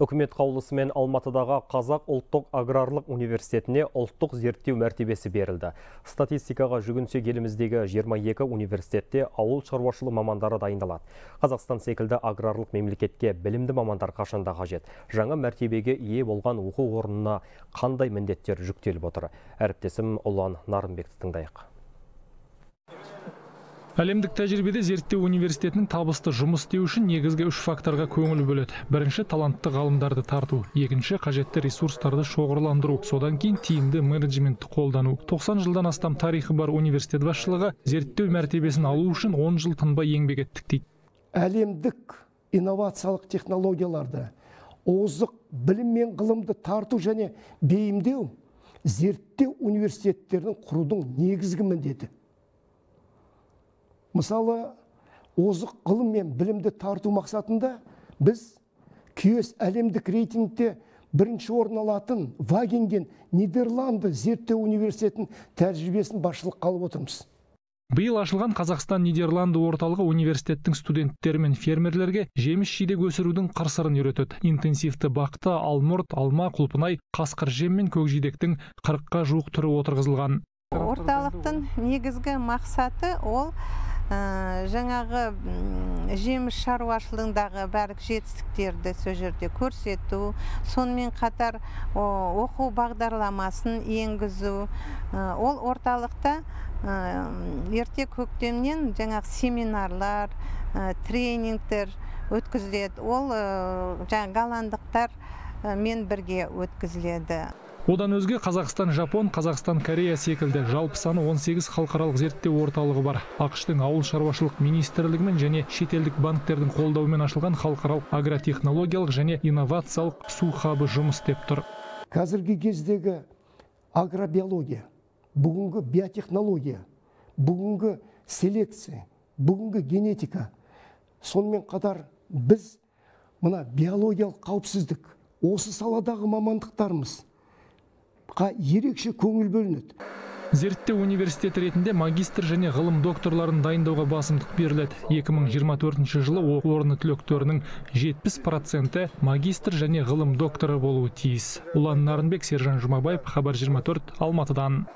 Үкімет қаулысымен Алматыдағы Қазақ ұлттық аграрлық университетіне ұлттық зерттеу мәртебесі берілді. Статистикаға жүгінсек, еліміздегі 22 университетте ауыл шаруашылығы мамандары дайындалады. Қазақстан секілді аграрлық мемлекетке білімді мамандар қашанда қажет. Жаңа мәртебеге ие болған оқу орнына қандай міндеттер жүктеліп отыр? Әріптесім Ұлан Нарынбекті тыңдайық. Әлемдік тәжірибеде зерттеу университетінің табысты жұмыс істеу үшін негізгі үш факторға көңіл бөледі. Бірінші, талантты ғалымдарды тарту. Екінші, қажетті ресурстарды шоғырландыру. Содан кейін тиімді менеджментті қолдану. 90 жылдан астам тарихы бар университет басшылығы зерттеу мәртебесін алу үшін 10 жыл тынбай еңбек еттік дейді. Әлемдік инновациялық технологияларды, озық білім мен ғылымды тарту және бейімдеу зерттеу университеттерінің құрудың негізгі міндеті. Мысалы, озық ғылым мен білімді тарту мақсатында біз QS әлемдік рейтингте бірінші орын алатын Вагенген Нидерланды зерттеу университетінің тәжірибесін басшылыққа алып отырмыз. Биыл ашылған Қазақстан-Нидерланды орталығы университеттің студенттері мен фермерлерге жеміс-жидек өсірудің қыр-сырын үйретеді. Интенсивті бақта алмұрт, алма, құлпынай, қасқыр жем мен көкжидектің 40-қа жуық түрі отырғызылған. Орталықтың негізгі мақсаты ол жаңағы жеміс шаруашылығындағы барлық жетістіктерді сол жерде көрсету, сонымен қатар оқу бағдарламасын енгізу. Ол орталықта ерте көктемнен жаңағы семинарлар, тренингтер өткізіледі. Ол жаңағы голландықтар мен бірге өткізіледі. Одан өзге Қазақстан, Жапон, Қазақстан, Корея секілді жалпы саны 18 халықаралық зерттеу орталығы бар. ақш-тың ауыл шаруашылық министрлігімен және шетелдік банктердің қолдауымен ашылған халықаралық агротехнологиялық және инновациялық су хабы жұмыс істеп тұр. Қазіргі кездегі агробиология, бүгінгі биотехнология, бүгінгі селекция, бүгінгі генетика, сонымен қатар біз мына биологиялық қауіпсіздік, осы саладағы мамандықтарымыз ерекше көңіл бөлінеді. Зерттеу университеті ретінде магистр және ғылым докторларын дайындауға басымдық беріледі. 2024 жылы оқу орны түлектерінің 70% магистр және ғылым докторы болуы тиіс. Ұлан Нарынбек, Сержан Жұмабаев, Хабар 24, Алматыдан.